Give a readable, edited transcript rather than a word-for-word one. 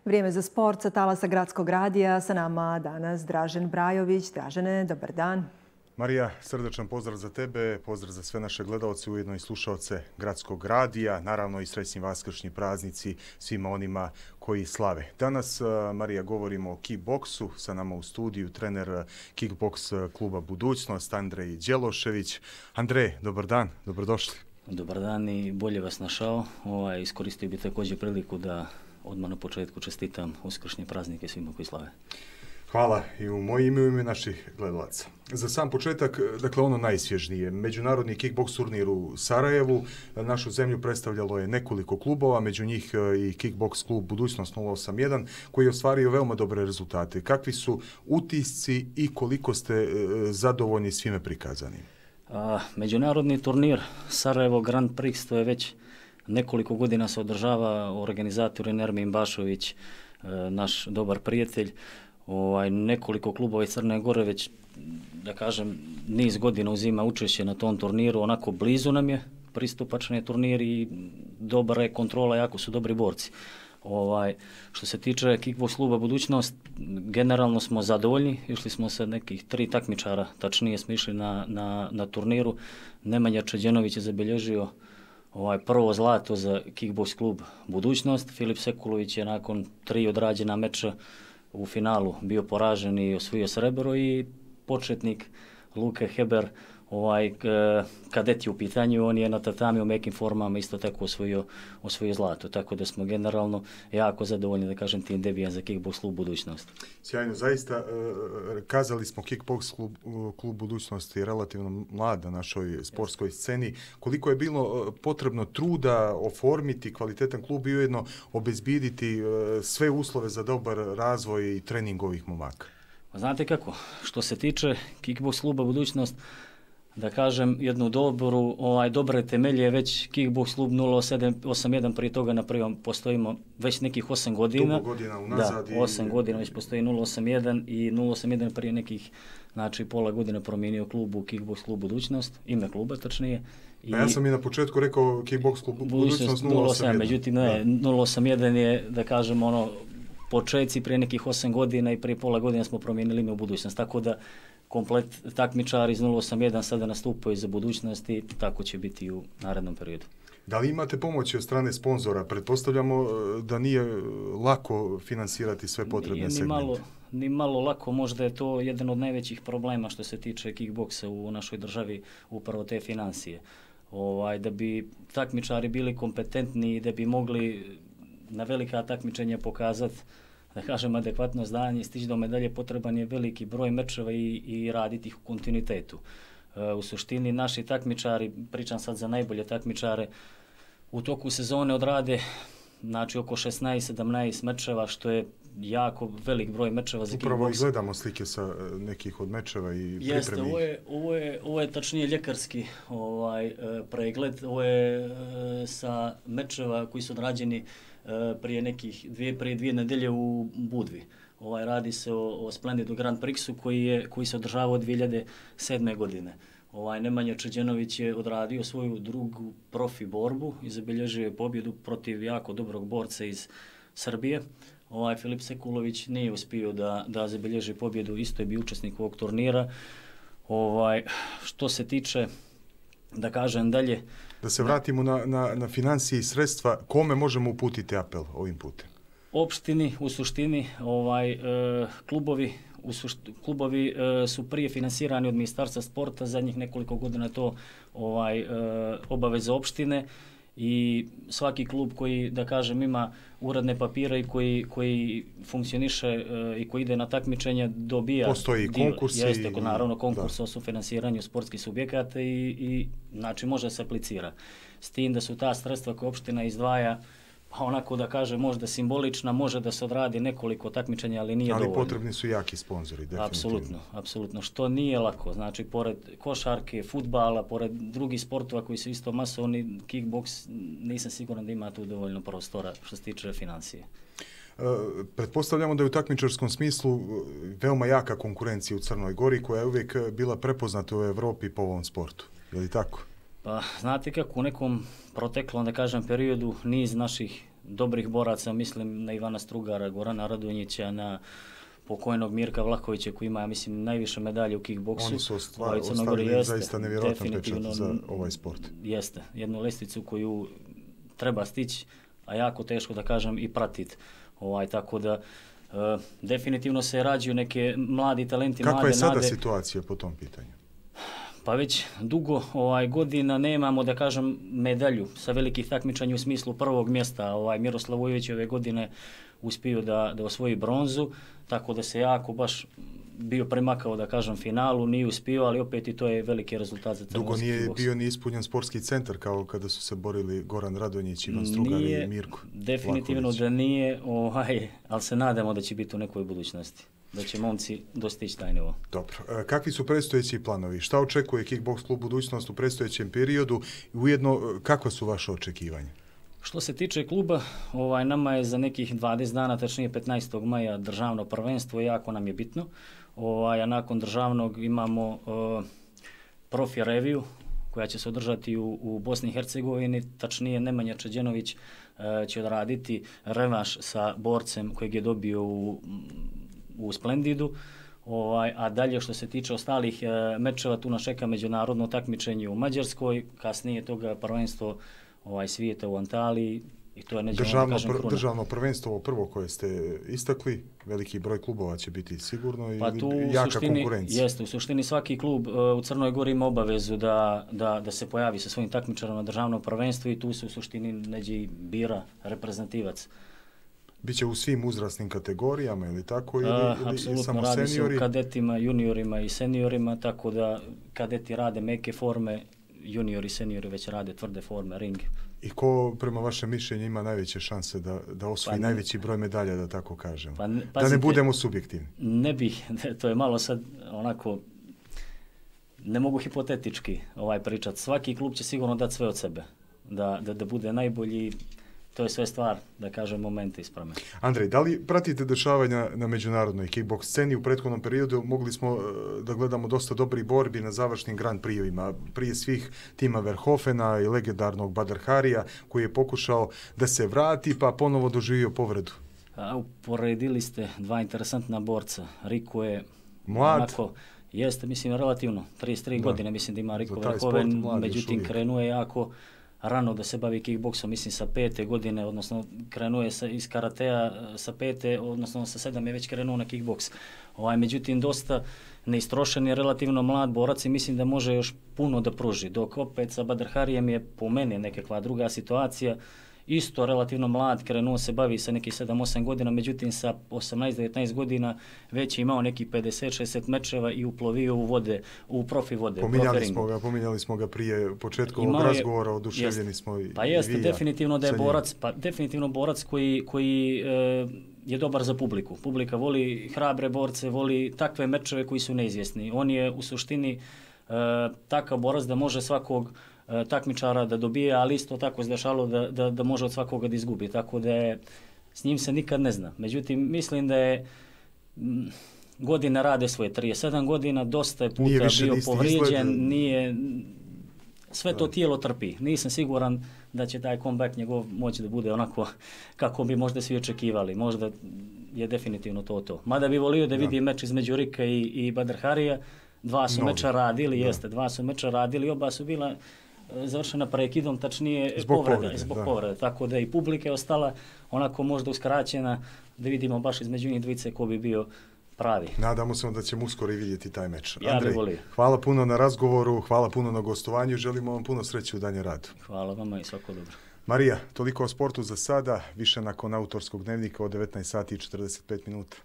Vrijeme za sport sa talasa Gradskog radija. Sa nama danas Dražen Brajović. Dražene, dobar dan. Marija, srdečan pozdrav za tebe, pozdrav za sve naše gledalce, ujedno i slušalce Gradskog radija, naravno i srećni vaskršnji praznici svima onima koji slave. Danas, Marija, govorimo o kickboksu, sa nama u studiju trener kickboks kluba Budućnost, Andrej Đelošević. Andrej, dobar dan, dobrodošli. Dobar dan i bolje vas našao. Iskoristio bi također priliku da odmah na početku čestitam uskršnje praznike svima koji slave. Hvala i u moje ime i u ime naših gledalaca. Za sam početak, dakle ono najsvježnije, međunarodni kickboks turnir u Sarajevu. Našu zemlju predstavljalo je nekoliko klubova, među njih i kickboks klub Budućnost 081 koji je ostvario veoma dobre rezultate. Kakvi su utisci i koliko ste zadovoljni svime prikazanim? Međunarodni turnir Sarajevo Grand Prix, to je već nekoliko godina se održava, organizator je Nermin Bašović, naš dobar prijatelj. Nekoliko klubova iz Crne Gore već, da kažem, niz godina uzima učešće na tom turniru, onako blizu nam je, pristupačan je turnir i dobra je kontrola, jako su dobri borci. Što se tiče kickboks kluba Budućnost, generalno smo zadovoljni, išli smo sa nekih 3 takmičara, tačnije smo išli na turniru. Nemanja Čeđenović je zabilježio prvo zlato za kickboks klub Budućnost. Filip Sekulović je nakon 3 odrađena meča u finalu bio poražen i osvojio srebro i početnik Luke Heber, kadet je u pitanju, on je na tatami u mekim formama isto tako osvojio zlato, tako da smo generalno jako zadovoljni, da kažem, tim debijan za kickboks klub Budućnost. Sjajno, zaista kazali smo kickboks klub Budućnost je relativno mlad na našoj sportskoj sceni. Koliko je bilo potrebno truda oformiti kvalitetan klub i ujedno obezbiditi sve uslove za dobar razvoj i trening ovih momaka? Znate kako, što se tiče kickboks kluba Budućnost, da kažem, jednu dobre temelje već kickboks klub 081, prije toga na prvom postojimo već nekih 8 godina. Dugo godina unazad. Da, 8 godina već postoji 081 i 081 prije nekih, znači pola godine promijenio klub u kickboks klub Budućnost, ime kluba tačnije. Ja sam i na početku rekao kickboks klub Budućnost 081. Međutim, ne, 081 je, da kažem, početci prije nekih 8 godina i prije pola godina smo promijenili ime u Budućnost, tako da komplet takmičari iz 081 sada nastupaju za Budućnost i tako će biti u narednom periodu. Da li imate pomoći od strane sponzora? Pretpostavljamo da nije lako finansirati sve potrebne segmente. Ni malo lako, možda je to jedan od najvećih problema što se tiče kickboksa u našoj državi, upravo te financije. Da bi takmičari bili kompetentni i da bi mogli na velika takmičenja pokazati, da kažem, adekvatno znanje i stići do medalje, potreban je veliki broj mečeva i raditi ih u kontinuitetu. U suštini naši takmičari, pričam sad za najbolje takmičare, u toku sezone odrade znači oko 16-17 mečeva, što je jako velik broj mečeva za kickboks. Upravo i gledamo slike sa nekih od mečeva i pripremi. Jeste, ovo je tačnije ljekarski pregled, ovo je sa mečeva koji su odrađeni prije dvije nedelje u Budvi. Radi se o Splendidu Grand Prixu koji se održavao 2007. godine. Nemanja Čeđenović je odradio svoju drugu profi borbu i zabilježio je pobjedu protiv jako dobrog borca iz Srbije. Filip Sekulović nije uspio da zabilježi pobjedu, isto je bio učesnik ovog turnira. Što se tiče, da kažem dalje... Da se vratimo na financije i sredstva, kome možemo uputiti apel ovim putem? Opštini, u suštini, klubovi su prije finansirani od Ministarstva sporta, zadnjih nekoliko godina to obaveza opštine i svaki klub koji, da kažem, ima uredne papire i koji funkcioniše i koji ide na takmičenja dobija... Postoji konkurs. Jeste, naravno, konkurs o sufinansiranju sportskih subjekata i znači može se aplicira. S tim da su ta sredstva koje opština izdvaja, pa onako da kaže možda simbolična, može da se odradi nekoliko takmičenja, ali nije dovoljno. Ali potrebni su jaki sponzori, definitivno. Apsolutno, što nije lako. Znači, pored košarke, fudbala, pored drugih sportova koji su isto masovni, kickboks, nisam siguran da ima tu dovoljno prostora što se tiče financije. Pretpostavljamo da je u takmičarskom smislu veoma jaka konkurencija u Crnoj Gori koja je uvijek bila prepoznata u Evropi po ovom sportu. Je li tako? Pa, znate kako, u nekom proteklom, da kažem, periodu niz naših dobrih boraca, mislim na Ivana Strugara, Gorana Radonjića, na pokojnog Mirka Vlahovića koji ima, ja mislim, najviše medalje u kickboksu. Oni su ostavili zaista nevjerojatan pečat za ovaj sport. Jeste, jednu lestvicu koju treba stići, a jako teško da kažem i pratiti. Tako da definitivno se rađaju neke mladi talenti, Kakva mlade je sada nade. situacija po tom pitanju? Pa već dugo godina nemamo, da kažem, medalju sa velikih takmičanja u smislu prvog mjesta. Miroslav Vujović ove godine uspio da osvoji bronzu, tako da se jako baš bio premakao, da kažem, finalu, nije uspio, ali opet i to je veliki rezultat za crnogorski kickboks. Dugo nije bio ni ispunjen sportski centar kao kada su se borili Goran Radonjić, Ivan Strugar i Mirko definitivno Vlahović. Da nije, ali se nadamo da će biti u nekoj budućnosti, da će momci dostići taj nivo. Dobro. Kakvi su predstojeći planovi? Šta očekuje Kickboks klub budućnost u predstojećem periodu i ujedno kakva su vaše očekivanja? Što se tiče kluba, nama je za nekih 20 dana, tačnije 15. maja, državno prvenstvo, jako nam je bitno. A nakon državnog imamo profi reviju koja će se održati u Bosni i Hercegovini, tačnije Nemanja Čeđenović će odraditi revanš sa borcem kojeg je dobio u Splendidu. A dalje što se tiče ostalih mečeva, tu nas čeka međunarodno takmičenje u Mađarskoj, kasnije toga prvenstvo svijeta u Antaliji. I to je državno prvenstvo, ovo prvo koje ste istakli, veliki broj klubova će biti sigurno i jaka konkurencija. Jeste, u suštini svaki klub u Crnoj Gori ima obavezu da se pojavi sa svojim takmičarom na državnom prvenstvu i tu se u suštini neđe bira reprezentativac. Biće u svim uzrasnim kategorijama ili tako ili samo seniori? Apsolutno, radi se o kadetima, juniorima i seniorima, tako da kadeti rade meke forme, juniori i seniori već rade tvrde forme, ring. I ko prema vašem mišljenju ima najveće šanse da osvoji najveći broj medalja, da tako kažem? Da ne budemo subjektivni. Ne bih, to je malo sad onako, ne mogu hipotetički pričati. Svaki klub će sigurno dati sve od sebe, da bude najbolji. To je sve stvar, da kažem, momente isprame. Andrej, da li pratite dešavanja na međunarodnoj kickboks sceni? U prethodnom periodu mogli smo da gledamo dosta dobrih borbi na završnim Grand Prix-ovima. Prije svih tima Verhofena i legendarnog Badr Harija, koji je pokušao da se vrati, pa ponovo doživio povredu. Uporedili ste dva interesantna borca. Riko je mlad. Jeste, mislim, relativno. 33 godine, mislim da ima Riko Verhoven, međutim krenuo je jako rano da se bavi kickboksom, mislim sa 5. godine, odnosno krenuo je iz karatea sa 5. odnosno sa 7. je već krenuo na kickboks. Međutim, dosta neistrošen je, relativno mlad borac i mislim da može još puno da pruži. Dok opet sa Badr Harijem je po meni nekakva druga situacija. Isto relativno mlad, krenuo se bavi sa nekih 7-8 godina, međutim sa 18-19 godina već je imao nekih 50-60 mečeva i uplovio u vode, u profi vode. Pominjali smo ga prije početka ovog razgovora, oduševljeni smo i pa jeste, vi. Definitivno da je definitivno borac koji je dobar za publiku. Publika voli hrabre borce, voli takve mečeve koji su neizvjesni. On je u suštini takav borac da može svakog takmičara da dobije, ali isto tako se dešalo da može od svakoga da izgubi, tako da s njim se nikad ne zna. Međutim, mislim da je godine rade svoje, 37 godina, dosta je puta bio povrijeđen, sve to tijelo trpi. Nisam siguran da će taj comeback njegov moći da bude onako kako bi možda svi očekivali. Možda je definitivno to. Mada bi volio da vidi meč između Rika i Badr Harija. Dva su meča radili, oba su bila završena prekidom, tačnije zbog povrede. Tako da i publika je ostala onako možda uskraćena, da vidimo baš između njih dvice ko bi bio pravi. Nadamo se da ćemo uskoro i vidjeti taj meč. Ja Andrej, hvala puno na razgovoru, hvala puno na gostovanju, želimo vam puno sreće u daljem radu. Hvala vama i svako dobro. Marija, toliko o sportu za sada, više nakon autorskog dnevnika od 19 sati i 45 minuta.